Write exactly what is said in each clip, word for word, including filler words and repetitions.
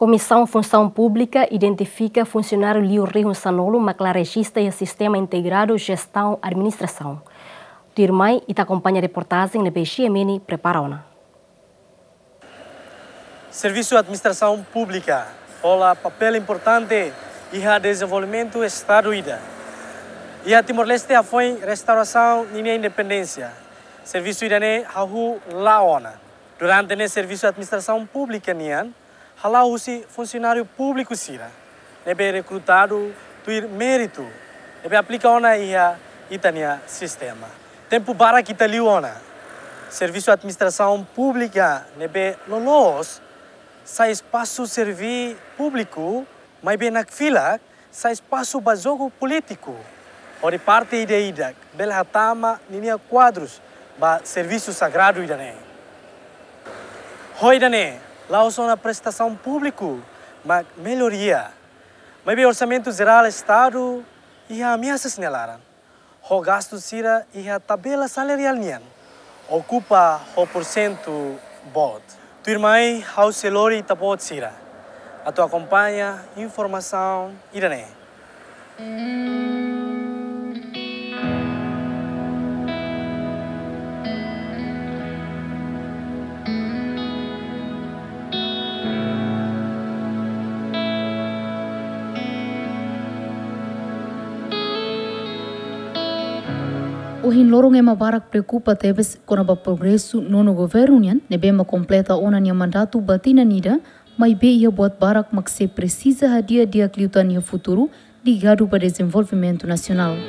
Komisaun Funsaun Públika identifika funsionáriu liu rihun sanulu mak la rejista iha Sistema Integradu Jestaun Administrasaun. Tuirmai, ita akompaña reportajen ne'ebé Xiemeni prepara ona. Servisu administrasaun públika hola papél importante iha dezenvolvimentu Estadu ida. Iha Timor-Leste hafoin restaurasaun ninia independénsia, servisu ida-ne'e hahú la'o ona. Durante ne'e servisu administrasaun públika nian hala'o husi funsionáriu públiku sira ne'ebé rekrutadu tuir méritu ne'ebé aplika ona iha ita-nia sistema. Tempu barak ita liu ona servisu administrasaun públika ne'ebé loloos sai espasu serví públiku, maibé nakfilak sai espasu ba jogu polítiku, hodi parte ida-idak bele hatama ninia kuadrus ba servisu sagradu ida-ne'e. Ho ida-ne'e, la'ós ona prestasaun públiku mak melloria, maibé Orsamentu Jerál Estadu iha ameasas nia laran, ho gastu sira iha tabela salariál nian okupa ho porsentu boot. Tuirmai, ha'u sei lori ita-boot sira atu akompaña informasaun ida-ne'e. Ohin loron ema barak preokupa tebes kona-ba progresu nonu governu nian, ne'ebé mak kompleta ona nia mandatu ba tinan ida, maibé iha buat barak mak sei presiza hadi'a di'ak liután iha futuru, ligadu ba dezenvolvimentu nasionál.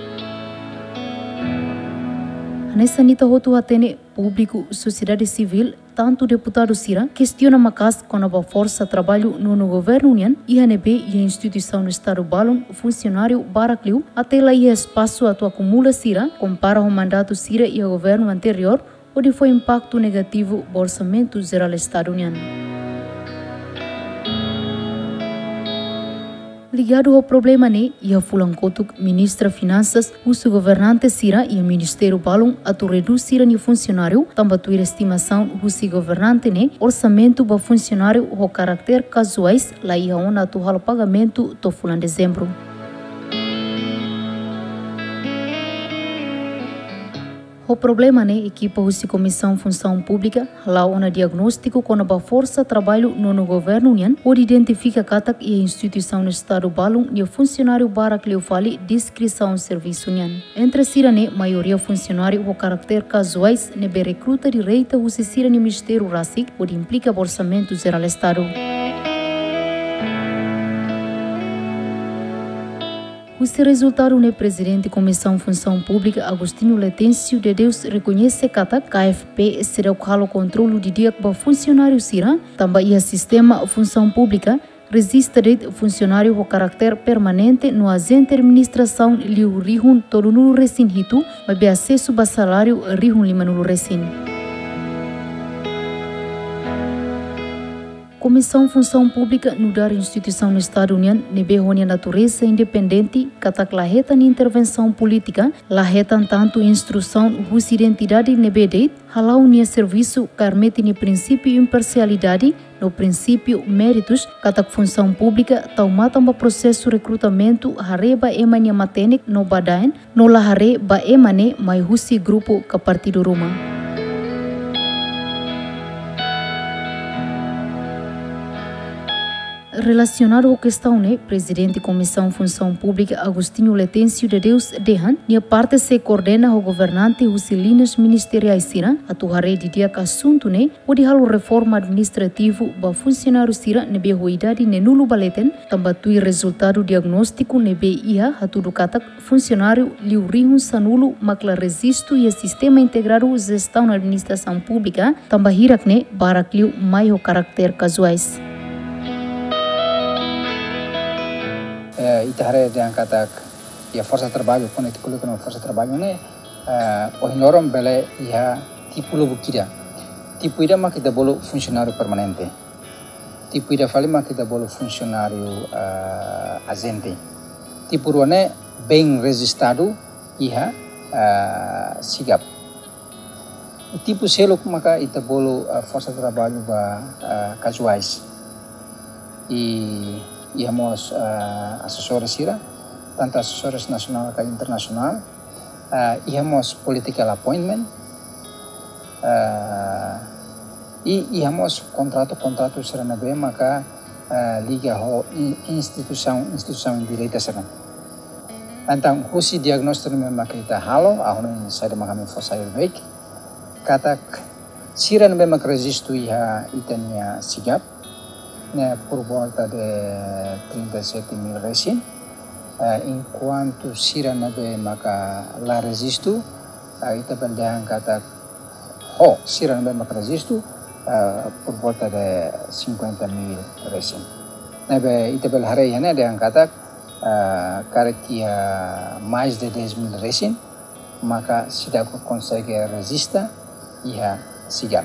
Hanesan ita hotu hatene, públiku, sosiedade sivíl, tantu deputadu sira, kestiona maka'as kona-ba forsa traballu nonu governu nian, iha ne'ebé iha instituisaun Estadu balun funsionáriu barak liu, até la iha espasu atu akumula sira, kompara ho mandatu sira iha governu anteriór, hodi fó impaktu negativu ba Orsamentu Jerál Estadu nian. Ligadu ho problema ne'e, iha fulan kotuk Ministra Finansas husu governante sira iha ministériu balun atu redús sira-nia funsionáriu, tanba tuir estimasaun husi governante ne'e, orsamentu ba funsionáriu ho karakter kazuais la iha ona atu halo pagamentu to'o fulan Dezembru. Ho problema ne'e, ekipa husi Komisaun Funsaun Públika hala'o ona diagnóstiku kona-ba forsa traballu nonu governu nian, hodi identifika katak iha instituisaun Estadu balun nia funsionáriu barak liu fali deskrisaun servisu nian. Entre sira-ne'e, maioria funsionáriu ho karakter kazuais ne'ebé rekruta direta husi sira-nia ministériu rasik, hodi implika ba Orsamentu Jerál Estadu. Husi rezultadu ne'e, Prezidente Komisaun Funsaun Públika, Agostinho Letêncio de Deus, rekoñese katak K F P seidauk halo kontrolu didi'ak ba funsionáriu sira, tanba iha sistema funsaun públika rejista de'it funsionáriu ho karakter permanente no ajente administrasaun liu rihun tolunulu resin hitu, maibé asesu ba saláriu rihun limanulu resin. Komisaun Funsaun Públika nu'udar instituisaun Estadu nian ne'ebé ho nia natureza independente, katak la hetan intervensaun polítika, la hetan tantu instrusaun husi entidade ne'ebé de'it, hala'o nia servisu kaer metin nia prinsípiu imparsialidade no prinsípiu méritus, katak funsaun públika tau matan ba prosesu rekrutamentu haree ba ema nia matenek no badaen, no la haree ba ema ne'e mai husi grupu ka partidu ruma. Relasionadu ho kestaun ne'e, Prezidente Komisaun Funsaun Públika, Agostinho Letêncio de Deus, dehan nia parte sei koordena ho governante husi liñas ministeriais sira atu haree didi'ak asuntu ne'e, hodi halo reforma administrativu ba funsionáriu sira ne'ebé ho idade neenulu ba leten, tanba tuir rezultadu diagnóstiku ne'ebé iha hatudu katak funsionáriu liu rihun sanulu mak la rejistu iha Sistema Integradu Jestaun Administrasaun Públika, tanba hirak-ne'e barak liu mai ho karakter kazuais. Eh, ita haree dehan katak iha forsa traballu, kona-ba ita ko'alia kona-ba forsa traballu ne'e, eh, ohin loron bele iha tipu lubuk ida. Tipu ida mak ita bolu funsionáriu permanente. Tipu ida fali mak ita bolu funsionáriu, eh, ajente. Tipu rua ne'e bem rejistadu iha, eh, SIGAP. Tipu seluk maka ita bolu, eh, forsa traballu ba, eh, kazuais. I iha mós, eh, asesores sira, tantu asesores nasionál ka internasionál, eh, iha mós political appointment, eh, i iha mós kontratu-kontratu sira ne'ebé maka, eh, liga ho i-, instituisaun, instituisaun direta sira. Entaun, husi diagnóstiku ne'ebé maka ita halo, ha'u hanoin saida maka ami fó sai beibeik, katak sira ne'ebé maka rejistu iha ita-nia SIGAP, ne'e por volta de trinta e sete mil resin. Eh, enkuantu sira ne'ebé maka la rejistu, eh, ita bele dehan katak ho sira ne'ebé maka rejistu, eh, por volta de cinquenta mil resin. Ne'ebé ita bele haree iha ne'e dehan katak, eh, karik iha mais de dez mil resin, maka seidauk konsege rejista iha SIGAP.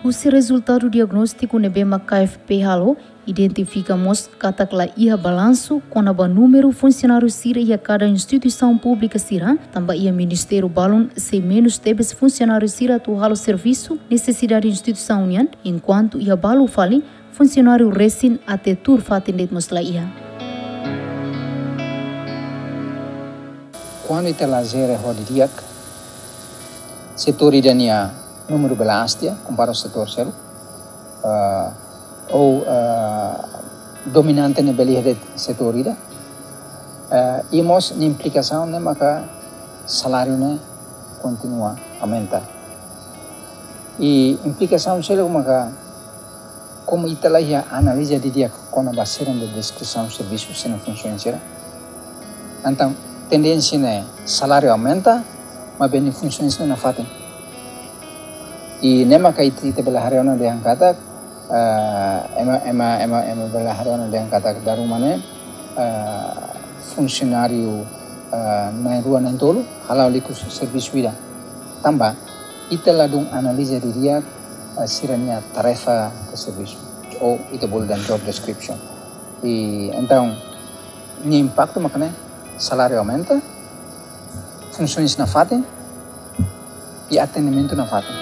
Husi rezultadu diagnóstiku ne'ebé maka K F P halo, identifika mós katak la iha balansu kona-ba númeru funsionáriu sira iha kada instituisaun públika sira, tanba iha ministériu balun sei menus tebes funsionáriu sira atu halo servisu nesesidade instituisaun nian, enkuantu iha balu fali funsionáriu resin até tuur fatin de'it mós la iha. Kuandu ita la jere ho didi'ak, setór ida-nia númeru bele aas tiha, kompara ho setór seluk, eh, ou, eh, dominante ne'e bele iha de'it setór ida, eh, i mós nia implikasaun ne'e maka saláriu ne'e kontinua aumenta. I implikasaun seluk maka, komu ita la iha analiza didi'ak kona-ba sira-nia deskrisaun servisu, sira-nia funsaun sira. Entaun, tendénsia ne'e saláriu aumenta, maibé nia funsaun sira nafatin. I ne'e maka ita, ita bele haree ona dehan katak, eh, ema, ema, ema, ema bele haree ona dehan katak dala ruma ne'e, eh, funsionáriu, eh, na'in-rua na'in-tolu hala'o liku servisu ida. Tanba ita ladún analiza didi'ak, eh, sira-nia tarefa ka servisu, ou ita bolu dehan job description. I entaun, nia impaktu maka ne'e, saláriu aumenta, funsaun nafatin, i atendimentu nafatin.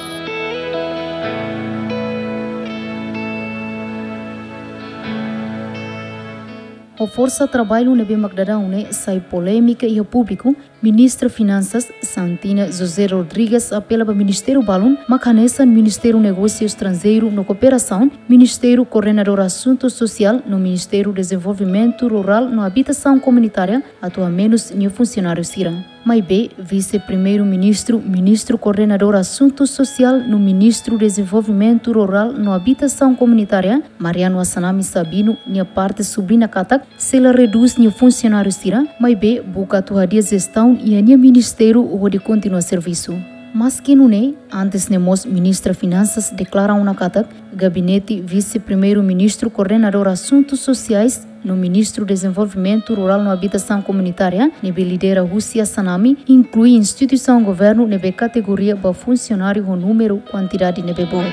Ho forsa traballu ne'ebé mak daudaun ne'e sai polémika iha públiku, Ministra Finansas, Santina José Rodrigues, apela ba ministériu balun, mak hanesan Ministériu Negósiu Estranjeiru no Kooperasaun, Ministériu Koordenadór Asuntu Sosiál no Ministériu Dezenvolvimentu Rurál no Abitasaun Komunitária, atu hamenus nia funsionáriu sira. Maibé, Vise-Primeiru-Ministru, Ministru Koordenadór Asuntu Sosiál no Ministru Dezenvolvimentu Rurál no Abitasaun Komunitária, Mariano Assanami Sabino, nia parte subliña katak, sei la redús nia funsionáriu sira, maibé buka atu hadi'a jestaun iha nia ministériu hodi kontinua servisu. Maski nune'e, antes ne'e mós Ministra Finansas deklara ona katak, Gabinete Vise-Primeiru-Ministru Koordenadór Asuntu Sosiais no Ministru Dezenvolvimentu Rurál no Abitasaun Komunitária, ne'ebé lidera husi Assanami, inklui instituisaun governu ne'ebé kategoria ba funsionáriu ho númeru kuantidade ne'ebé boot.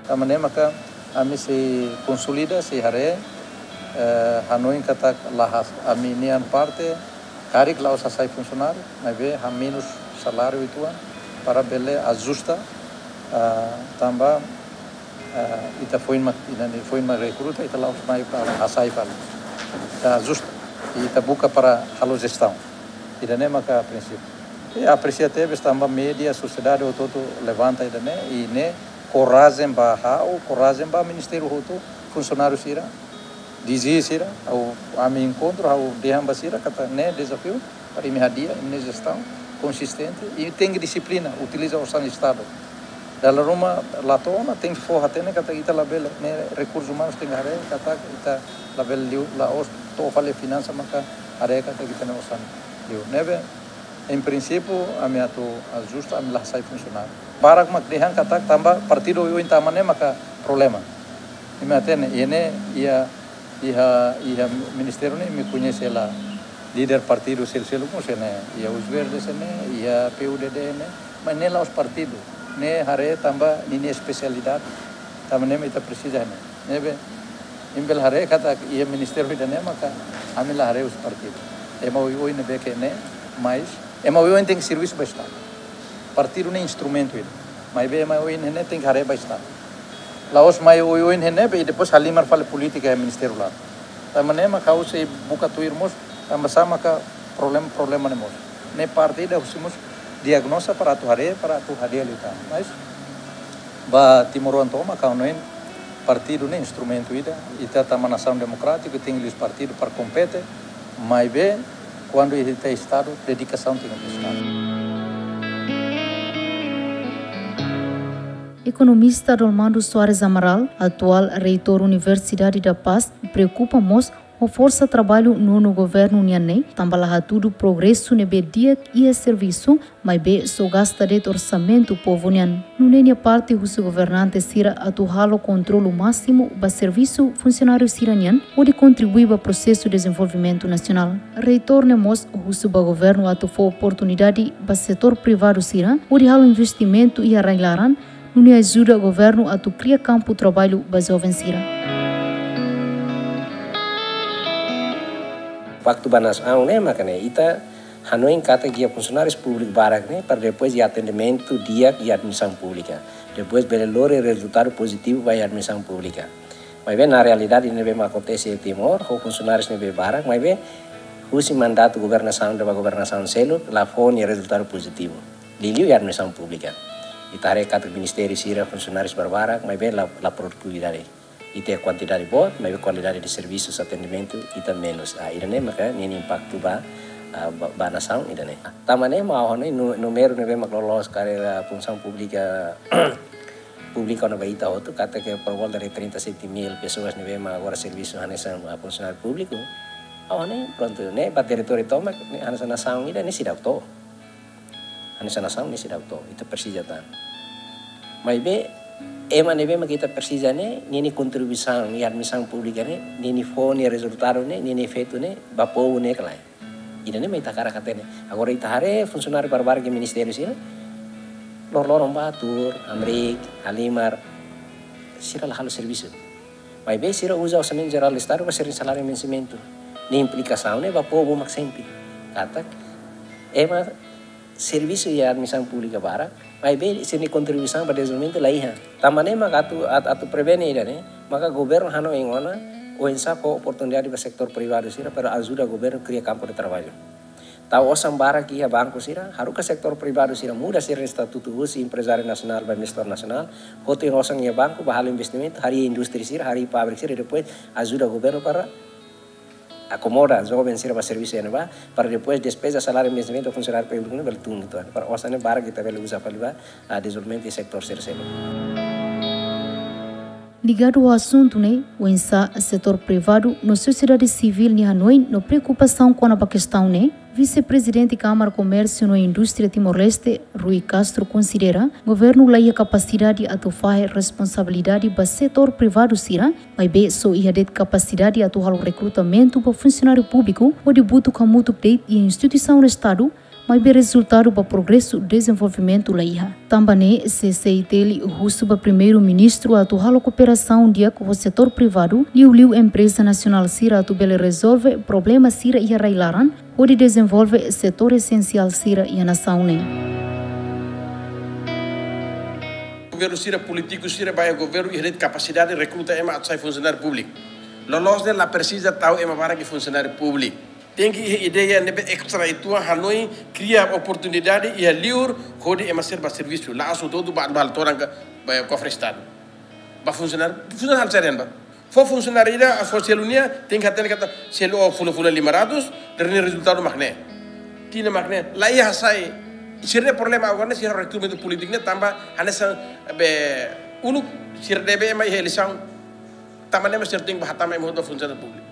Tanba ne'e maka ami sei konsolida, sei haree, eh, hanoin katak la has-, ami-nian parte, karik la'ós hasai funsionáriu, maibé hamenus saláriu uitoan para bele ajusta, ah, tanba, ah, ita foin mak, ita-nia foin mak rekruta, ita la'ós mai para hasai fali. Ita ajusta, ita buka para halo jestaun. Ida-ne'e maka prinsípiu. I apresia tebes tanba média, sosiedade hotu-hotu levanta ida-ne'e, i ne'e korajen ba ha'u, korajen ba ministériu hotu, funsionáriu sira, D G sira, ha'u, ami enkontru, ha'u dehan ba sira, katak ne'e dezafiu, para imi hadi'a, imi-nia jestaun konsistente, i tenke dixiplina, utiliza osan Estadu. Dala ruma la to'o ona, tenke fó hatene, katak ita labele, ne'e rekursus umanus tenke haree, katak ita labele liu, la'ós to'o fali finansa maka haree katak ita-nia osan liu. Ne'ebé, em princípio, ami atu ajusta, ami la hasai funsionáriu. Barak mak dehan katak tanba partidu oioin tama ne'e maka problema. Imi hatene, iha ne'e, iha, iha, iha ministériu ne'e, imi koñese hela líder partidu seluk-seluk mós iha ne'e, iha Os Verdes iha ne'e, iha P U D D iha ne'e, mas ne'e la'ós partidu, ne'e haree tanba ninia espesialidade, tanba ne'e mak ita presiza iha ne'e. Ne'ebé, imi bele haree katak iha ministériu ida-ne'e maka ami la haree husi partidu. Ema oioin ne'ebé ke ne'e, mais Ema oioin tenke servisu ba Estadu. Partidu ne'e instrumentu ida. Maibé ema oioin ne'e tenke haree ba Estadu. La'ós mai oioin ne'ebé i depois halimar fali polítika iha ministériu laran. Tanba ne'e mak ha'u sei buka tuir mós, tanba sá maka problema, problema ne'e mós. Ne'e parte ida husi mós diagnoza para atu haree, para atu hadi'a liután. Mas ba timoroan tomak ha'u hanoin partidu ne'e instrumentu ida, ita tama nasaun demokrátiku, tenke liu partidu para kompete, maibé kuandu ita Estadu, dedikasaun tenke ba Estadu. Ekonomista Dolmando Soares Amaral, atuál reitór Universidade da Paz, preokupa mós ho forsa traballu nonu governu nian ne'e, tanba la hatudu progresu ne'ebé di'ak iha servisu, maibé só gasta de'it orsamentu povu nian. Nune'e nia parte husu governante sira atu halo kontrolu másimu ba servisu funsionáriu sira nian, hodi kontribui ba prosesu dezenvolvimentu nasionál. Reitór ne'e mós husu ba governu atu fó oportunidade ba setór privadu sira, hodi halo investimentu iha rai-laran, nune'e ajuda governu atu kria kampu traballu ba joven sira. Impaktu ba nasaun ne'e maka ne'e, ita hanoin katak iha funsionáriu públiku barak ne'e, para depois iha atendimentu di'ak iha administrasaun públika. Depois bele lori rezultadu pozitivu ba iha administrasaun públika. Maibé na realidade ne'ebé mak akontese iha Timor, ho funsionáriu ne'ebé barak, maibé husi mandatu governasaun ida ba governasaun seluk, la fó nia rezultadu pozitivu. Liuliu iha administrasaun públika. Ita haree katak ministériu sira funsionáriu barbarak, maibé la, la produtividade. Ita iha kuantidade boot, maibé kualidade de servisu, atendimentu, ita menus. Ah, ida-ne'e maka ninia impaktu ba, ah, ba, ba nasaun ida-ne'e. Tanba ne'e mak ha'u hanoin nu-, númeru ne'ebé mak loloos karreira funsaun públika, públiku ona ba ita hotu, katak por volta de trinta e sete mil pessoas ne'ebé mak agora servisu hanesan, ah, funsionáriu públiku. Ha'u hanoin, prontu, ne'e ba territóriu tomak, ne'e hanesan nasaun ida-ne'e seidauk to'o. Hanesan nasaun ne'e seidauk to'o, ita presiza tan. Maibé, ema ne'ebé mak ita presiza ne'e, ninia kontribuisaun iha administrasaun públika ne'e, ninia fó nia rezultadu ne'e, ninia efeitu ne'e, ba povu ne'e ka lae. Ida-ne'e mak ita hakarak hatene. Agora ita haree funsionáriu barbarak iha ministériu sira, loroloron bá tuur, hamriik, halimar, sira la halo servisu. Maibé sira uza orsamentu jerál Estadu ba sira-nia saláriu vensimentu. Ne'e implikasaun ne'e ba povu mak sente. Katak, ema servisu iha administrasaun públika barak, maibé sira-nia kontribuisaun ba dezenvolvimentu la iha. Tanba ne'e maka atu, at-, atu prevene ida-ne'e, maka governu hanoin ona, oinsá fó oportunidade ba setór privadu sira para ajuda governu kria kampu de traballu. Tau osan barak iha banku sira, haruka setór privadu sira muda sira estatutu husi emprezáriu nasionál ba investidór nasionál, hotu osan iha banku ba halo investimentu, harii indústria sira, harii fábrika sira, depois ajuda governu para akomoda joven sira ba servisu iha ne'ebá, para depois despeza saláriu, vensimentu funsionáriu públiku ne'e bele tun uitoan. Para osan ne'e barak ita bele uza fali ba, ah, dezenvolvimentu iha setór sira seluk. Ligadu ho asuntu ne'e, oinsá setór privadu no sosiedade sivíl nia hanoin no preokupasaun kona-ba kestaun ne'e, Vise-Prezidente Kámara Komérsiu no Indústria Timor-Leste, Rui Castro, konsidera governu la iha kapasidade atu fahe responsabilidade ba setór privadu sira, maibé só iha de'it kapasidade atu halo rekrutamentu ba funsionáriu públiku hodi butuk hamutuk de'it iha instituisaun Estadu, maibé rezultadu ba progresu dezenvolvimentu la iha. Tanba ne'e, C C I T L husu ba Primeiru-Ministru atu halo kooperasaun di'ak ho setór privadu, liuliu empreza nasionál sira atu bele rezolve problema sira iha rai-laran, hodi dezenvolve setór esensiál sira iha nasaun ne'e. Governu sira, polítiku sira ba iha governu iha de'it kapasidade rekruta ema atu sai funsionáriu públiku. Loloos ne'e la presiza tau ema barak iha funsionáriu públiku. Tenke iha ideia ne'ebé estra uitoan, hanoin kria oportunidade iha liur hodi ema sira ba servisu. La'ós hotu-hotu ba, ba todan ka, ba kofre Estadu. Ba funsionáriu, funsionáriu halo saida ba. Fó funsionáriu ida, fó selu nia, tenke hatene katak selu ó fulan-fulan lima ratus, dehan nia rezultadu mak ne'e. Tinan mak ne'e, la iha hasai. Sira-nia problema agora ne'e, sira rekruta polítiku ne'e, tanba hanesan be uluk, sira debe ema iha eleisaun. Tanba ne'e mak sira tenke ba hatama ema hotu ba funsionáriu públiku.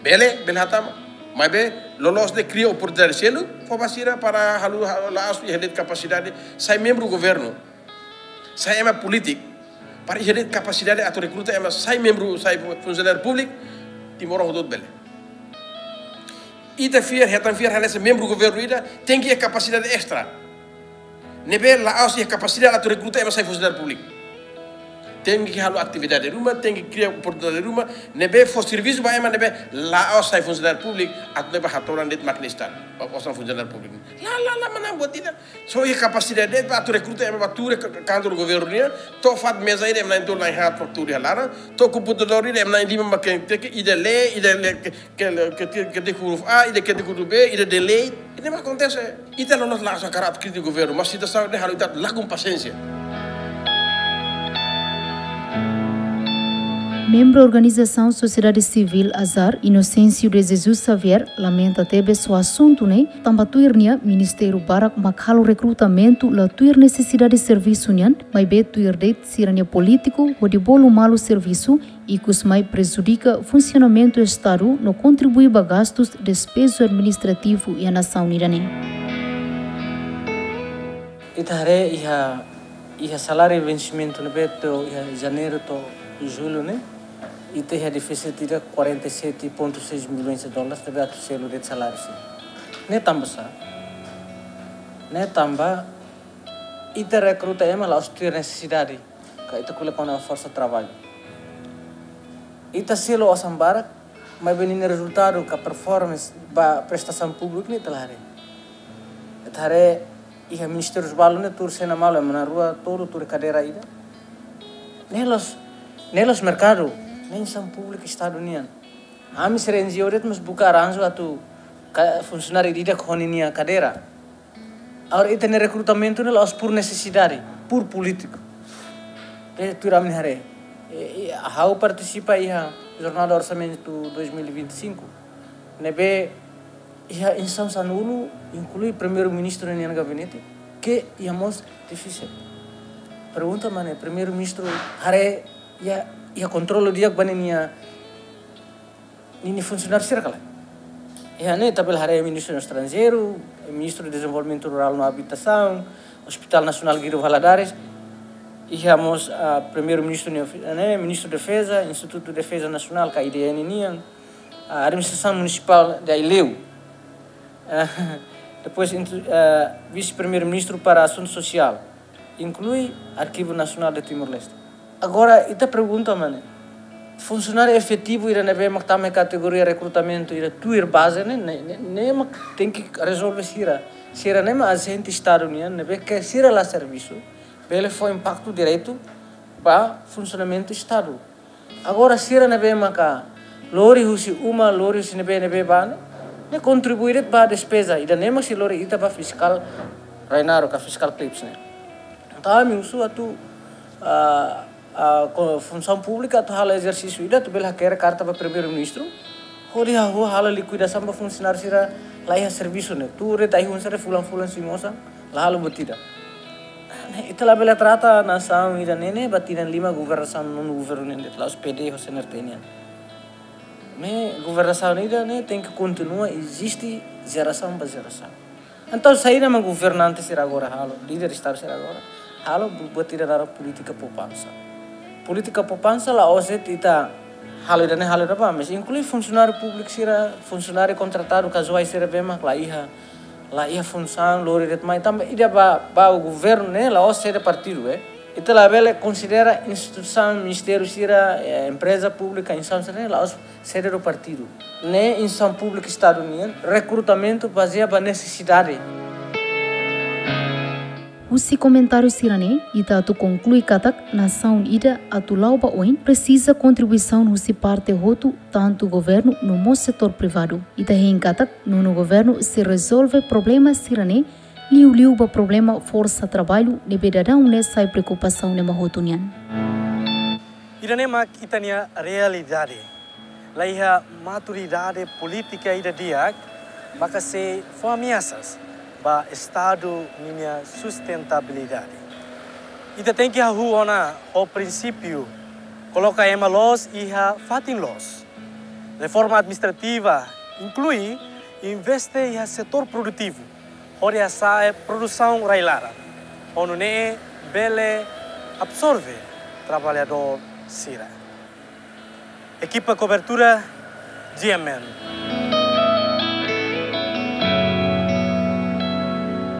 Bele, bele hatama. Maibé, loloos ne'e kria oportunidade seluk, fó ba sira para halo, halo la'ós iha de'it kapasidade, sai membru governu. Sai ema polítiku, para iha de'it kapasidade atu rekruta ema sai membru, sai funsionáriu públiku, timoroan hotu-hotu bele. Ita fiar, hetan fiar, hanesan membru governu ida, tenke iha kapasidade estra. Ne'ebé la'ós iha kapasidade atu rekruta ema sai funsionáriu públiku. Tenke halo atividade ruma, tenke kria oportunidade ruma, ne'ebé fó servisu ba ema ne'ebé la'ós sai funsionáriu públiku, atu ne'ebé hatoran de'it mákina Estadu, ba osan funsionáriu públiku. La, la, la, manán buat ida. Só iha kapasidade de'it ba atu rekruta ema ba tuur iha kantoru governu nian, to'o fatin meza ida ema na'in-tolu na'in-haat ba tuur iha laran, to'o komputadór ida ema na'in-lima mak tenke, ida lee, ida lee, ke, ke, ke, ketik huruf A, ida ketik huruf B, ida delete. Ida-ne'e mak akontese. Ita loloos la'ós hakarak krítika governu, mas situasaun ne'e halo ita lakon pasiénsia. Membru organizasaun sosiedade sivíl ASAR, Inocêncio de Jesus Xavier, lamenta tebes ho asuntu ne'e, tanba tuir nia ministériu barak mak halo rekrutamentu la tuir nesesidade servisu nian, maibé tuir de'it sira-nia polítiku hodi bolu malu servisu, ikus mai prejudika funsionamentu Estadu no kontribui ba gastus despeju administrativu iha nasaun ida-ne'e. Ita haree iha, iha saláriu vensimentu ne'ebé to'o iha Janeiru to'o Jullu ne'e, ita iha defísitu ida quarenta e sete ponto seis milhões de dólares ne'ebé atu selu de'it saláriu sira. Ne'e tanba sá? Ne'e tanba ita rekruta ema la'ós tuir nesesidade, ka ita ko'alia kona-ba forsa traballu. Ita selu osan barak, maibé ninia rezultadu ka performance ba prestasaun públiku ne'e ita la haree. Ita haree iha ministériu balu ne'e tuur sena malu, ema na'in-rua tolu tuur kadeira ida. Ne'e la'ós, ne'e la'ós merkadu, ne'e instituisaun públiku Estadu nian. Ami sira N G O de'it mós buka arranju atu ka-, funsionáriu ida-idak ho ninia kadeira. Agora, ita-nia rekrutamentu ne'e la'ós por nesesidade, por polítiku. Ne'e tuir ami haree. E, e, ha'u partisipa iha Jornada Orsamentu dois mil e vinte e cinco. Ne'ebé iha instituisaun sanulu, inklui Primeiru-Ministru nian gabinete, ke iha mós defísitu. Pergunta mak ne'e, Primeiru-Ministru haree iha, iha kontrolu di'ak ba ninia ninia funsionáriu sira ka lae. Iha ne'e ita bele haree Ministru Estranjeiru, Ministru Dezenvolvimentu Rurál no Abitasaun, Hospital Nasionál Guido Valadares, iha mós, ah, Primeiru-Ministru nia ofi-, ne'e, Ministru Defeza, Institutu Defeza Nasionál ka I D N nian, ah, Administrasaun Munisipál de Aileu. Ah, depois, intu-, ah, Vise-Primeiru-Ministru para Asuntu Sosiál, inklui Arkivu Nasionál de Timor-Leste. Agora, ita pergunta mak ne'e, funsionáriu efetivu ida ne'ebé mak tama iha kategoria rekrutamentu ida tuir baze ne'e, ne'e, ne'e, ne'e mak tenke rezolve sira. Sira ne'e mak ajente Estadu nian, ne'ebé ke sira la servisu, bele fó impaktu diretu ba funsionamentu Estadu. Agora sira ne'ebé maka lori husi uma, lori husi ne'ebé ne'ebé ba ne'e, ne'e kontribui de'it ba despeza, ida-ne'e mak sei lori ita ba fiskál Rainaro ka fiskál Clips ne'e. Entaun ami husu atu, ah, ah, ko-, funsaun públika atu halo ezersísiu ida atu bele hakerek karta ba Primeiru-Ministru, hodi hahú halo likuidasaun ba funsionáriu sira la iha servisu ne'e. Tuur de'it ai-hun sira fulan-fulan sei mosa, la halo buat ida. Ne'e, ita labele trata nasaun ida-ne'e ne'e ba tinan lima governasaun nonu governu nian de'it, la'ós P D ho C N R T nian. Ne'e governasaun ida-ne'e tenke kontinua eziste jerasaun ba jerasaun. Entaun saida mak governante sira agora halo, líder Estadu sira agora halo, bu-, buat ida naran polítika poupansa. Polítika poupansa la'ós de'it ita halo ida-ne'e halo ida-ne'ebá, mas inklui funsionáriu públiku sira, funsionáriu kontratadu kazuál sira ne'ebé mak la iha, la iha funsaun, lori de'it mai, tanba ida ba, ba governu ne'e la'ós sede partidu, eh. Ita labele konsidera instituisaun, ministériu sira, eh, empreza públika, instituisaun sira ne'e la'ós sede do partidu. Ne'e instituisaun públika Estadu nian, rekrutamentu bazeia ba nesesidade. Husi komentáriu sira-ne'e, ita atu konklui katak nasaun ida atu la'o ba oin presiza kontribuisaun husi parte hotu, tantu governu no mós setór privadu. Ita hein katak nonu governu sei rezolve problema sira-ne'e liuliu ba problema forsa traballu ne'ebé daudaun ne'e sai preokupasaun ema hotu nian. Ida-ne'e mak ita-nia realidade. La iha maturidade polítika ida di'ak, maka sei fó ameasas ba Estadu ninia sustentabilidade. Ita tenke hahú ona ho prinsípiu, koloka ema loos iha fatin loos. Reforma administrativa inklui investe iha setór produtivu, hodi hasa'e produsaun rai-laran, hodi nune'e bele absorve traballadór sira. Ekipa kobertura, G M N.